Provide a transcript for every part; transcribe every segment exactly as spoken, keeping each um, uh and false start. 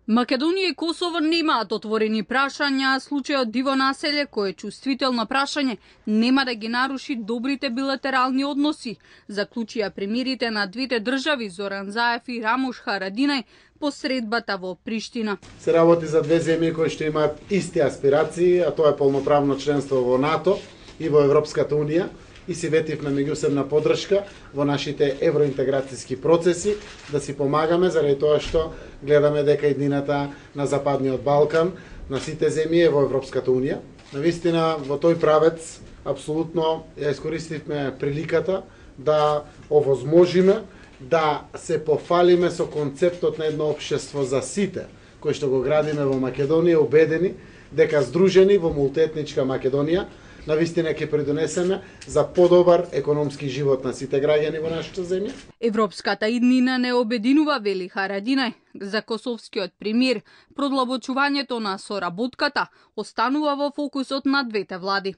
Македонија и Косово немаат отворени прашања, а случајот Диво населје, кој е чувствително прашање, нема да ги наруши добрите билатерални односи, заклучија премиерите на двете држави Зоран Заев и Рамуш Харадинај по средбата во Приштина. Се работи за две земји кои што имаат исти аспирации, а тоа е полноправно членство во НАТО и во Европската унија. И си ветивме меѓусебна поддршка во нашите евроинтеграцијски процеси, да си помагаме заради тоа што гледаме дека иднината на Западниот Балкан, на сите земји е во Европската унија. Навистина во тој правец апсолутно ја искористивме приликата да овозможиме да се пофалиме со концептот на едно општество за сите, кој што го градиме во Македонија, убедени дека здружени во мултиетничка Македонија навистина ќе придонесеме за подобар економски живот на сите граѓани во нашата земја. Европската иднина не обединува, вели Харадинај. За косовскиот премиер, продлабочувањето на соработката останува во фокусот на двете влади.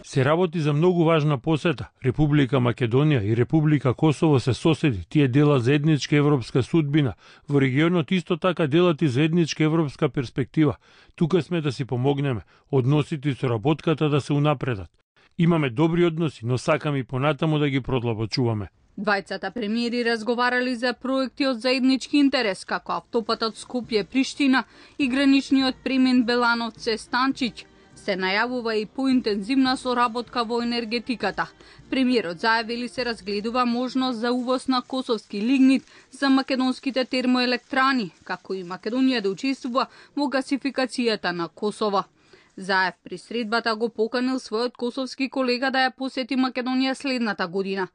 Се работи за многу важна посета. Република Македонија и Република Косово се соседи. Тие делат заедничка европска судбина. Во регионот исто така делат и заедничка европска перспектива. Тука сме да си помогнеме. Односите и соработката да се унапредат. Имаме добри односи, но сакаме и понатаму да ги продлабочуваме. Двајцата премиери разговарали за проекти од заеднички интерес, како автопатот Скопје-Приштина и граничниот премен Белановце-Станчиќ. Се најавува и поинтензивна соработка во енергетиката. Премиерот зајавили се разгледува можност за увоз на косовски лигнит за македонските термоелектрани, како и Македонија да учествува во гасификацијата на Косово. Заев при средбата го поканил својот косовски колега да ја посети Македонија следната година.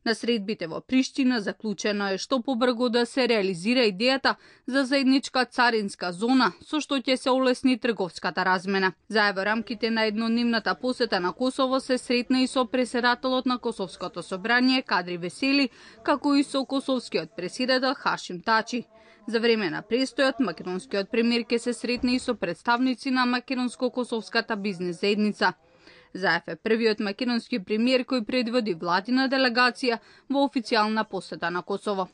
На средбите во Приштина заклучено е што побрзо да се реализира идејата за заедничка царинска зона, со што ќе се олесни трговската размена. Заедно во рамките на еднодневната посета на Косово се сретна и со преседателот на Косовското собрание Кадри Весели, како и со косовскиот преседател Хашим Тачи. За време на престојот, македонскиот премиер ќе се сретне и со представници на македонско-косовската бизнес заедница. Заев е првиот македонски премиер кој предводи владина делегација во официјална посета на Косово.